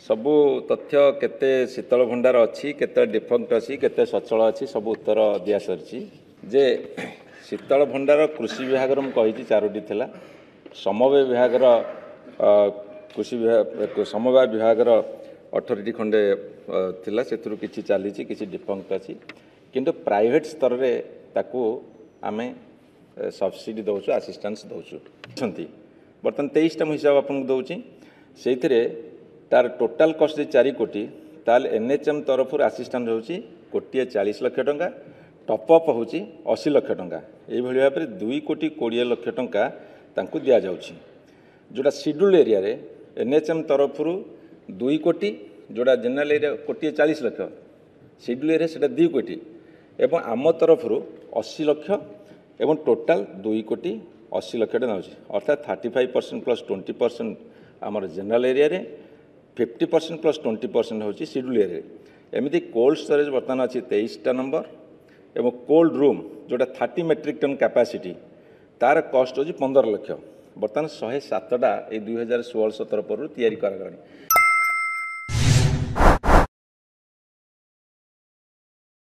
ସବୁ ତଥ୍ୟ, କେତେ ଶୀତଳ ଭଣ୍ଡାର ଅଛି, କେତେ ଡିଫଙ୍କ୍ଟ ଅଛି, କେତେ ସଚଳ ଅଛି, ସବୁ ଉତ୍ତର ଦିଆସରିଛି। ଯେ ଶୀତଳ ଭଣ୍ଡାର କୃଷି ବିଭାଗର ମୁଁ କହିଛି 4ଟି ଥିଲା, ସମବାୟ ବିଭାଗର କୃଷି ବିଭାଗ ସମବାୟ ବିଭାଗର 18ଟି ଖଣ୍ଡେ ଥିଲା, ସେଥିରୁ କିଛି ଚାଲିଛି, କିଛି ଡିଫଙ୍କ୍ଟ ଅଛି। କିନ୍ତୁ ପ୍ରାଇଭେଟ୍ ସ୍ତରରେ ତାକୁ ଆମେ ସବସିଡ଼ି ଦେଉଛୁ, ଆସିଷ୍ଟାନ୍ସ ଦେଉଛୁ। ଅଛନ୍ତି ବର୍ତ୍ତମାନ 23ଟା, ମୁଁ ହିସାବ ଆପଣଙ୍କୁ ଦେଉଛି। ସେଇଥିରେ ତାର ଟୋଟାଲ୍ କଷ୍ଟ ଯଦି 4 କୋଟି, ତାହେଲେ ଏନ୍ ଏଚ୍ ଏମ୍ ତରଫରୁ ଆସିଷ୍ଟାନ୍ସ ହେଉଛି କୋଟିଏ 40 ଲକ୍ଷ ଟଙ୍କା, ଟପଅପ୍ ହେଉଛି 80 ଲକ୍ଷ ଟଙ୍କା। ଏଇଭଳି ଭାବରେ 2 କୋଟି 20 ଲକ୍ଷ ଟଙ୍କା ତାଙ୍କୁ ଦିଆଯାଉଛି। ଯେଉଁଟା ସିଡ୍ୟୁଲ୍ ଏରିଆରେ ଏନ୍ ଏଚ୍ ଏମ୍ ତରଫରୁ 2 କୋଟି, ଯେଉଁଟା ଜେନେରାଲ ଏରିଆ କୋଟିଏ 40 ଲକ୍ଷ, ସିଡ୍ୟୁଲ୍ ଏରିଆ ସେଇଟା 2 କୋଟି, ଏବଂ ଆମ ତରଫରୁ 80 ଲକ୍ଷ, ଏବଂ ଟୋଟାଲ୍ 2 କୋଟି 80 ଲକ୍ଷ ଟଙ୍କା ହେଉଛି। ଅର୍ଥାତ୍ 35% ପ୍ଲସ୍ 20% ଆମର ଜେନେରାଲ ଏରିଆରେ, 50% ପ୍ଲସ୍ 20% ହେଉଛି ସିଡ୍ୟୁଲ୍ ଏରିଆରେ। ଏମିତି କୋଲ୍ଡ ଷ୍ଟୋରେଜ୍ ବର୍ତ୍ତମାନ ଅଛି 23ଟା ନମ୍ବର, ଏବଂ କୋଲ୍ଡ ରୁମ୍ ଯେଉଁଟା 30 ମେଟ୍ରିକ୍ ଟନ୍ କାପାସିଟି, ତାର କଷ୍ଟ ହେଉଛି 15 ଲକ୍ଷ। ବର୍ତ୍ତମାନ 107ଟା ଏଇ 2016-17 ପରରୁ ତିଆରି କରାଗଲାଣି।